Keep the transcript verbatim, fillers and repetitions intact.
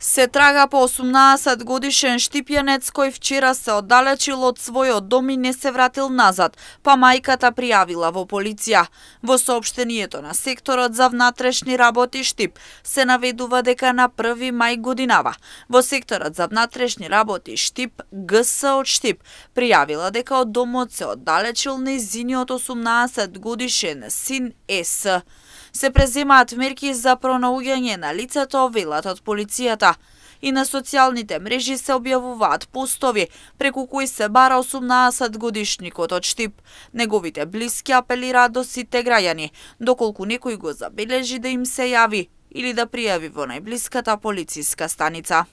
Се трага по осумнаесет годишен штипјанец кој вчера се оддалечил од својот дом и не се вратил назад, па мајката пријавила во полиција. Во соопштението на секторот за внатрешни работи Штип се наведува дека на први мај годинава во секторот за внатрешни работи Штип ГС од Штип пријавила дека од домот се оддалечил нејзиниот осумнаесет годишен син С. Се преземаат мерки за пронаоѓање на лицето, велат од полицијата. И на социјалните мрежи се објавуваат постови преку кои се бара осумнаесет годишникот од Штип. Неговите блиски апелираат до сите граѓани, доколку некој го забележи да им се јави или да пријави во најблиската полициска станица.